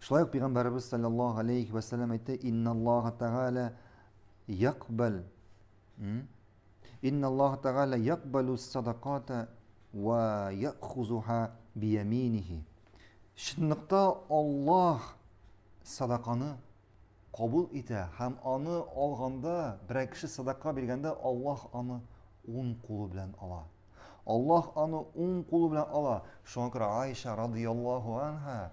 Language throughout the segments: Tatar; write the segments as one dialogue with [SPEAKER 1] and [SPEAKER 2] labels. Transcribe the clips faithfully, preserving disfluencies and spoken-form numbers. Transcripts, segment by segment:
[SPEAKER 1] Шулай ук Пәйгамбәребез саллаллаһу алейхи ва саллям әйтте: "Инналлаһа тәгалә якбал Инналлаһа тәгалә якбалу садаката ва яхузуха бияминихи." Чынлыкта Аллаһ садаканы кабул итә һәм аны алганда, берәр кеше садака биргәндә, Аллаһ аны уң кулы белән ала. Аллаһ аны уң кулы белән ала. Шуңа күрә Айша радияллаһу анха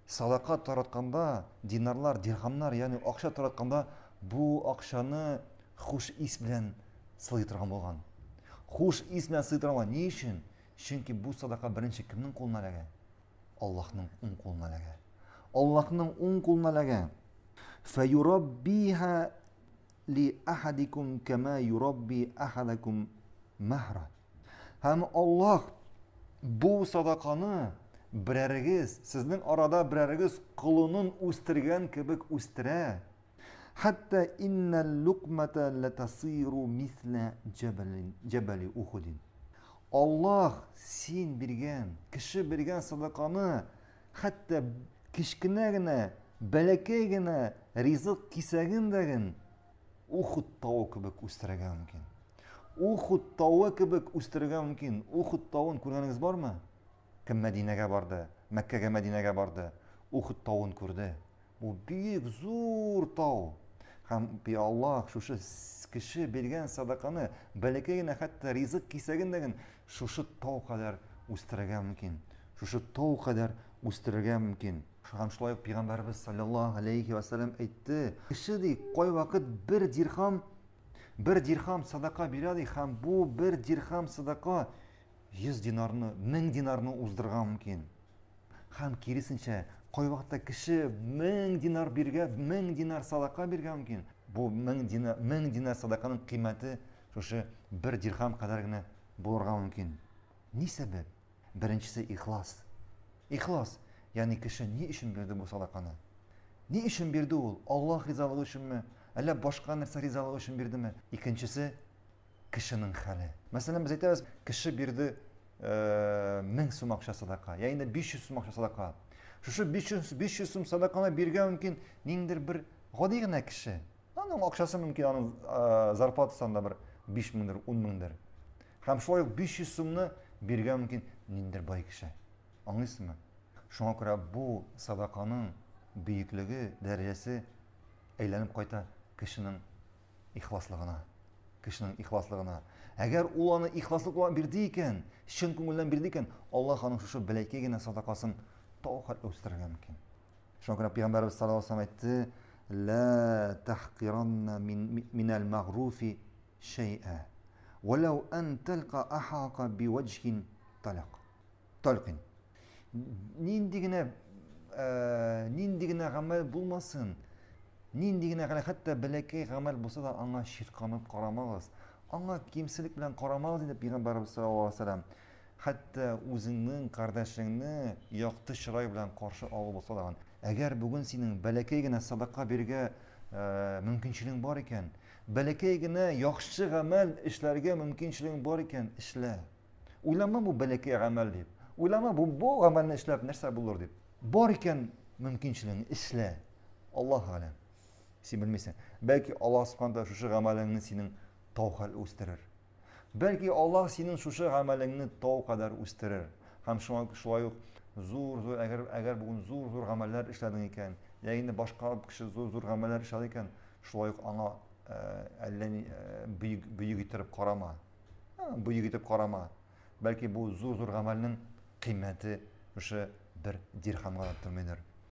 [SPEAKER 1] садака таратканда, динарлар, дирхамнар, ягъни акча таратканда, бу акчаны хуш ис белән сылый торган булган. Хуш ис белән сылый торган булган. Ни өчен? Чөнки бу садака беренче кемнең кулына эләгә? Аллаһның уң кулына эләгә. Аллаһның уң кулына эләгә. Фәюраббиха ли ахадикум кама юрабби ахадакум махра. Һәм Аллаһ бу садаканы берәрегез, сезнең арада берәрегез колынын үстергән кебек үстерә. Хәтта иннәл лукмата латасиру мисла җәбәлин җәбәли Ухудин. Аллаһ син биргән, кеше биргән садаканы хәтта кечкенә генә, бәләкәй генә ризык кисәген дә Ухуд тавы кебек үстерергә мөмкин. Ухуд тавы кебек үстерергә мөмкин. Ухуд тавын күргәнегез бармы? Кем Мәдинәгә барды, Мәккәгә, Мәдинәгә барды, Ухуд тавын күрде. Бу бик зур тау. Һәм би Аллаһ шушы кеше биргән садаканы, бәләкәй генә хәтта ризык кисәген дә шушы тау кадәр үстерергә мөмкин. Шушы тау кадәр үстерергә мөмкин. Һәм шулай ук Пәйгамбәребез саллаллаһу алейхи ва саллям әйтте: кеше ди, кайвакыт бер дирхам, бер дирхам садака бирә ди, һәм бу бер дирхам садака йөз динарны, мең динарны уздырырга мөмкин. Һәм киресенчә, кайвакытта кеше мең динар биргә, мең динар садака биргә мөмкин. Бу мең динар, мең динар садаканың кыйммәте шушы бер дирхам кадәр генә булырга мөмкин. Ни сәбәп? Беренчесе ихлас. Ихлас, ягъни кеше ни өчен бирде бу садаканы? Ни өчен бирде ул? Аллаһ ризалыгы өченме? Әллә башка нәрсә ризалыгы өчен бирдеме? Икенчесе кешенең хәле. Мәсәлән, без әйтәбез, кеше бирде мең сум акча садака, я инде биш йөз сум акча садака. Шушы биш йөз, биш йөз сум садаканы биргән мөмкин ниндидер бер гади генә кеше. Аның акчасы мөмкин, аның зарплатасы анда бер биш меңдер, ун меңдер. Һәм шулай ук биш йөз сумны биргән мөмкин ниндидер бай кеше. Аңлыйсызмы? Шуңа күрә бу садаканың бөеклеге, дәрәҗәсе әйләнеп кайта кешенең ихласлыгына. Кешенең ихласлыгына. Әгәр ул аны ихласлык белән бирде икән, чын күңелдән бирде икән, Аллаһ аның шушы бәләкәй генә садакасын тау хәтле үстерергә мөмкин. Шуңа күрә Пәйгамбәребез саллаллаһу алейһи ва саллям әйтте: "Ла тахкиранна минәл магруфи шәй'a, валау ан талqa ахака биваҗхин талак." Талкин. Нинди генә, нинди генә гамәл булмасын, нинди генә гамәл, хәтта бәләкәй гамәл булса да, аңа чирканып карамагыз, аңа кимселек белән карамагыз, диде Пәйгамбәребез саллаллаһу алейһи ва саллям. Хәтта үзеңнең кардәшеңне якты чырай белән каршы алу булса да. Әгәр бүген синең бәләкәй генә садака бирергә мөмкинчелегең бар икән, бәләкәй генә яхшы гамәл эшләргә мөмкинчелегең бар икән, эшлә. Уйлама бу бәләкәй гамәл дип. Уйлама бу, бу гамәлне эшләп нәрсә булыр дип. Бар икән мөмкинчелегең, эшлә. Аллаһ алем. Син белмисең. Бәлки Аллаһ субхана тааля шушы гамәлеңне синең тау хәл үстерер. Бәлки Аллаһ синең шушы гамәлеңне тау кадәр үстерер. Һәм шуңа шулай ук зур-зур, әгәр, әгәр бүген зур-зур гамәлләр эшләдең икән, я инде башка кеше зур-зур гамәлләр эшләде икән, шулай ук аңа, әллә ни, бөек, бөек итеп карама. Бөек итеп карама. Бәлки бу зур-зур гамәлнең кыйммәте шушы бер дирхамга да тормыйдыр.